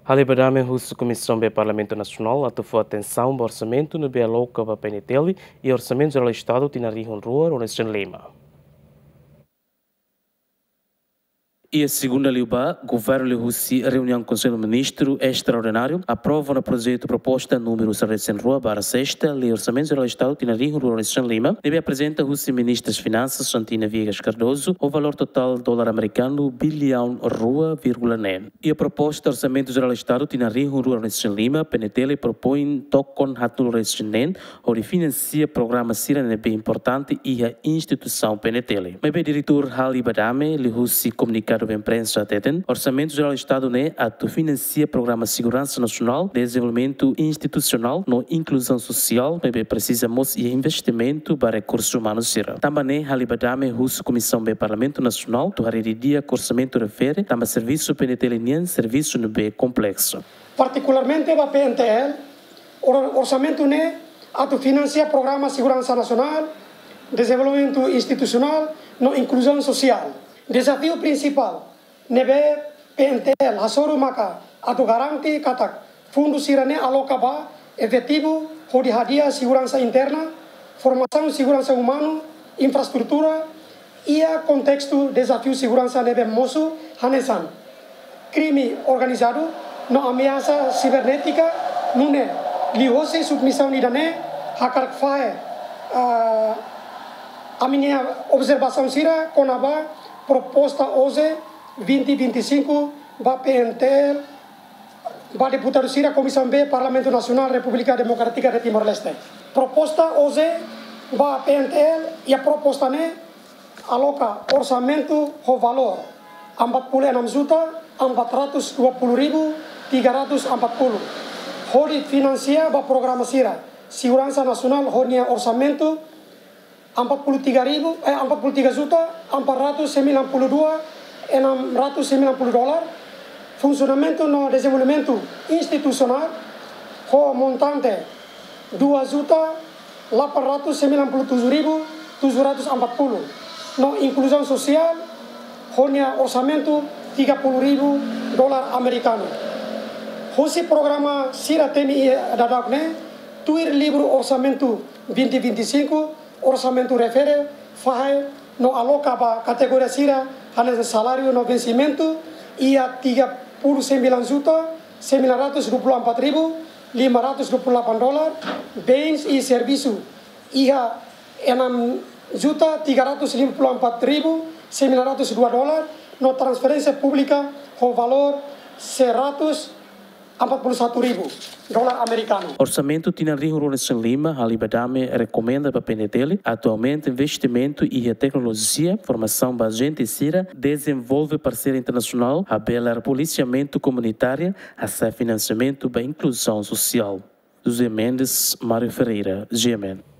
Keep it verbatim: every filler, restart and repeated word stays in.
Halibadame husu Komisaun B Parlamentu Nasionál atu fó atensaun ba orsamentu ne'ebé aloka ba P N T L iha Orsamentu Jerál Estadu tinan rihun rua ruanulu-resin-lima. Iha segunda liubá, Governu liuhusi reuniaun Konsellu Ministru Estraordináriu aprova ona projetu proposta númeru sanulu-resin-rua barra sesta Lei Orsamentu Jerál Estadu tinan rihun rua ruanulu-resin-lima, ne'ebé aprezenta husi Ministra Finansas Santina Viegas Cardoso, ho valór totál dolar amerikanu biliaun rua vírgula neen. Iha proposta Orsamentu Jerál Estadu tinan rihun rua ruanulu-resin-lima, P N T L propoin tokon haatnulu-resin-neen hodi finansia programa sira ne'ebé importante iha instituisaun P N T L. Maibé Diretór Halibadame liuhusi komunikadu ba imprensa hateten, Orsamentu Jerál Estadu ne'e atu finansia programa seguransa nasionál, dezenvolvimentu institusionál no inkluzaun sosiál, maibé presiza mós iha investimentu ba rekursu umanu sira. Tanba ne'e Halibadame husu Komisaun B Parlamentu Nasionál atu haree didi'ak orsamentu refere, tanba servisu P N T L nian servisu ne'ebé kompleksu. Partikularmente ba P N T L, or-, orsamentu ne'e atu finansia programa seguransa nasionál, dezenvolvimentu institusionál no inkluzaun sosiál. Dezafiu prinsipál ne'ebé P N T L hasoru maka atu garante katak fundu sira-ne'e aloka ba efetivu hodi hadi'a seguransa interna, formasaun seguransa umanu, infraestrutura, iha kontestu dezafiu seguransa ne'ebé mosu hanesan krime organizadu no ameasa sibernétika, nune'e liuhosi submisaun ida-ne'e hakarak fahe, ah, ami-nia observasaun sira kona-ba proposta OJE vinte vinte e cinco ba P N T L, ba deputadu sira Komisaun B Parlamentu Nasionál Repúblika Demokrátika de Timor-Leste. Proposta OJE ba P N T L, iha proposta ne'e aloka orsamentu ho valór empat puluh enam juta empat ratus dua puluh ribu tiga ratus empat puluh hodi finansia ba programa sira seguransa nasionál ho nia orsamentu empat puluh tiga ribu, eh, empat puluh tiga juta empat ratus sembilan puluh dua enam ratus sembilan puluh dolar, funsionamentu no dezenvolvimentu institusionál ho montante dua juta delapan ratus sembilan puluh tujuh ribu tujuh ratus empat puluh, no inkluzaun sosiál ho nia orsamentu tiga puluh ribu dolar amerikanu. Husi programa sira temi iha daudaun ne'e, tuir livru orsamentu vinte vinte e cinco, orsamentu refere, fahe no aloka ba kategoria sira hanesan saláriu no vensimentu, iha tiga puluh sembilan juta sembilan ratus dua puluh empat ribu lima ratus dua puluh delapan dolar, bens i servisu, iha enam juta tiga ratus lima puluh empat ribu sembilan ratus dua dolar, no transferénsia públika ho valór seratus empat puluh satu ribu dolar amerikanu. Orsamentu tinan rihun rua ruanulu-resin-lima, Halibadame rekomenda ba P N T L atu aumenta investimentu iha teknolojia, formasaun ba ajente sira, dezenvolve parseria internasionál, habelar polisiamentu komunitáriu, hasa'e finansiamentu ba inkluzaun sosiál. José Mendes, Mário Ferreira, G M N.